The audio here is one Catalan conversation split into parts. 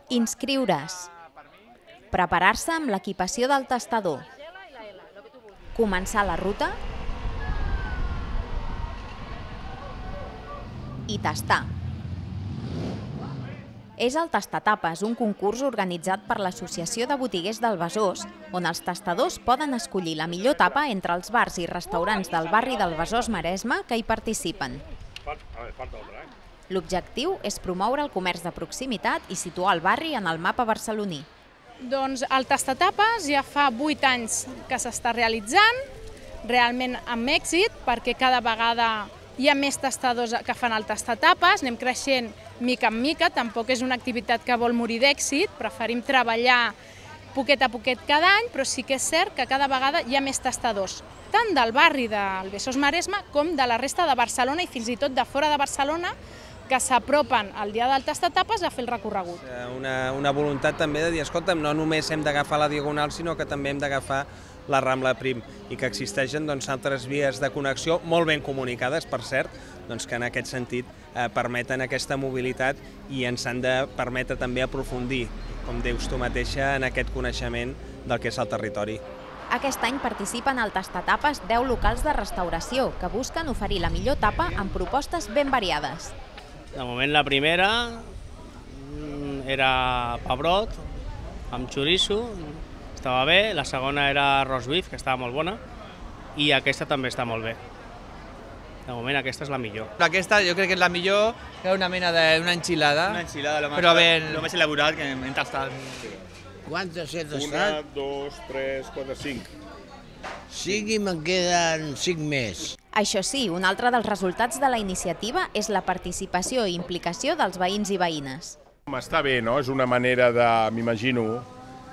Inscriure's. Preparar-se amb l'equipació del tastador. Començar la ruta. I tastar. És el Tastatapes, un concurs organitzat per l'Associació de Botiguers del Besòs, on els tastadors poden escollir la millor tapa entre els bars i restaurants del barri del Besòs-Maresme que hi participen. L'objectiu és promoure el comerç de proximitat i situar el barri en el mapa barceloní. Doncs el Tastatapes ja fa 8 anys que s'està realitzant, realment amb èxit, perquè cada vegada hi ha més tastadors que fan el Tastatapes, anem creixent mica en mica, tampoc és una activitat que vol morir d'èxit, preferim treballar poquet a poquet cada any, però sí que és cert que cada vegada hi ha més tastadors, tant del barri del Besòs-Maresme com de la resta de Barcelona i fins i tot de fora de Barcelona, que s'apropen al dia del Tastatapes a fer el recorregut. Una voluntat també de dir, escolta'm, no només hem d'agafar la Diagonal, sinó que també hem d'agafar la Rambla Prim i que existeixen altres vies de connexió molt ben comunicades, per cert, que en aquest sentit permeten aquesta mobilitat i ens han de permetre també aprofundir, com dius tu mateixa, en aquest coneixement del que és el territori. Aquest any participen al Tastatapes 10 locals de restauració que busquen oferir la millor tapa amb propostes ben variades. De moment la primera era pebrot amb xoriço, estava bé, la segona era arròs beef, que estava molt bona, i aquesta també està molt bé. De moment aquesta és la millor. Aquesta jo crec que és la millor, que és una mena d'una enchilada. Una enchilada, però lo més elaborat que hem tastat. Quantes he tastat? 1, 2, 3, 4, 5. 5 i me'n queden 5 més. Això sí, un altre dels resultats de la iniciativa és la participació i implicació dels veïns i veïnes. Està bé, no? És una manera, m'imagino,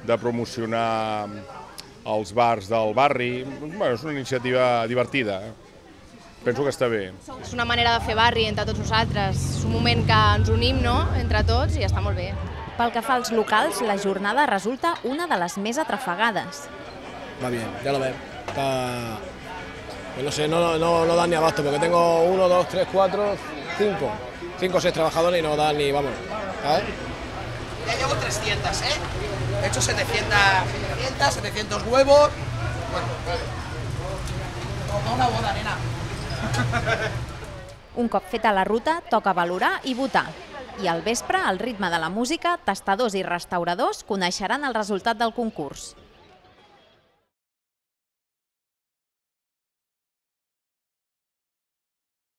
de promocionar els bars del barri. És una iniciativa divertida. Penso que està bé. És una manera de fer barri entre tots nosaltres. És un moment que ens unim entre tots i està molt bé. Pel que fa als locals, la jornada resulta una de les més atrafegades. Va bien, ya lo ves. No sé, no dan ni abasto, porque tengo 1, 2, 3, 4, 5. 5 o 6 trabajadores y no dan ni, vamos, ¿sabes? Ya llevo 300, ¿eh? He hecho 700 huevos. Bueno, como una boda, nena. Un cop feta la ruta, toca valorar i votar. I al vespre, al ritme de la música, tastadors i restauradors coneixeran el resultat del concurs.